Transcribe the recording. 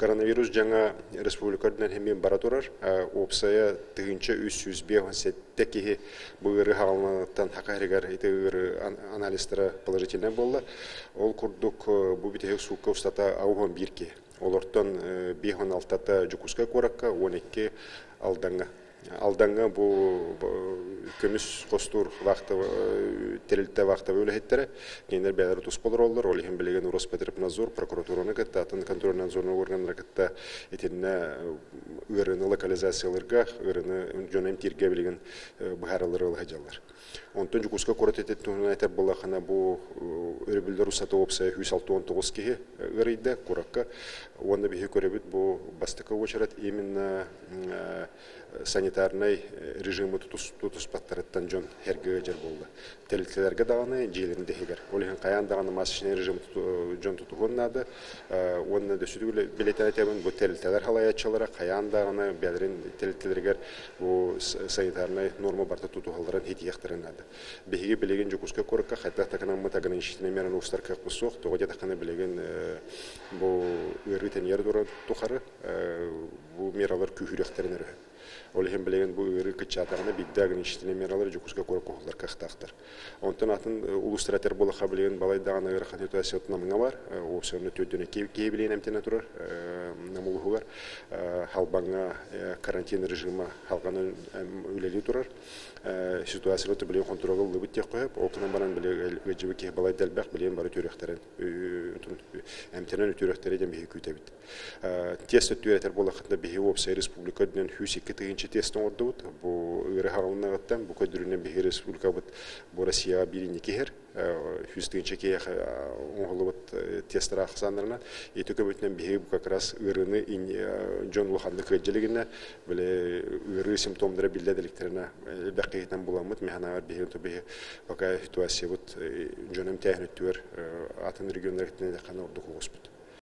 Коронавирус дьаҥа республика үрдүнэн эмиэ бара турар. Уопсайа 1357 киһи бу ыарыы хаҕыланыттан Саха сиригэр ити ыарыы анализтара положительнай буолла. Ол курдук бу бүтэһик суукка устата 81 киһи. Олортон 56-та Дьокуускай куоракка, 12 Алдаҥҥа. Алдаҥҥа бу көмүс хостуур тэрилтэ вахтовый үлэһиттэрэ кинилэр бэйэлэрэ туспа олороллор. Ол иһин билигин Роспотребнадзор прокуратураны кытта, атын контрольно-надзорный органнары кытта итиннэ ыарыыны локализациялыырга, ыарыыны дьону эмтииргэ билигин быһаараллары ыла сылдьаллар. Онтон Дьокуускай куорат этин туһунан этэр буоллаххына, бу өрөбүллэр устата уопсайа 169 киһи ыарыйда куоракка. Уонна биһиги көрөбүт бу бастакы уочарат именно санитарнай режимы тутуспаттарыттан дьон эргэ ыалдьар буолла. Тэрилтэлэргэ даҕаны, дьиэлэрин да иһигэр. Ол иһин хайаан даҕаны масочный режим дьон тутуһуон наада. Уонна дөссүтүгүл билэтэн этэбин, бу тэрилтэлэр халайааччылара хайаан даҕаны бэйэлэрин тэрилтэлэригэр бу санитарнай норма барыта тутуһалларын итиэхтэрин наада. Биһиги билигин Дьокуускай куоракка хайдах да гынаммыт ограничительнай мераны устар кыахпыт суох. Тоҕо диэтэххинэ билигин бу ыарыы тэнийэр тухары бу мералар күүһүрүөхтэрин өрөһө. Ол иһин билигин бу ыарыы кыччаатаҕына биирдэ ограничительнай мералар Дьокуускай куоракка уһуллар кыахтаахтар. Онтон атын улуустар этэр буоллахха билигин балай даҕаны ыарахан ситуация Намҥа бар. Уопсайынан төрдүнэ киһи билигин эмтэнэ турар Нам улууһугар. Халбаҥҥа карантин режима халҕанан үлэлии турар. Ситуацияны билигин хонтуруолга ыллыбыт диэххэ сөп. Ол гынан баран били ыалдьыбыт киһи балай да элбэх, билигин бары үтүөрүөхтэрин эмтэнэн үтүөрүөхтэрэ диэн биһиги күүтэбит. Тест өттүгэр этэр буоллаххытына, биһиги уопсай республика үрдүнэн 102 тыһыынча тест оҥордубут. Бу ыарыы хаҕылыннаҕыттан, бу көрдөрүүнэн биһиги республикабыт бу Россияҕа биир инники иһэр. 100 тыһыынча киһиэхэ оҥоһуллубут тесттэр ахсааннарынан. Ити көмөтүнэн биһиги как раз ыарыыны дьон улаханнык ыалдьа илигинэ, били ыарыы симптомнара биллэ иликтэринэ элбэх киһитинэн буламмыт, механаар биһиги биһи пока ситуациябыт дьон эмтээһин өттүгэр атын регионнар ордук оҕуспут.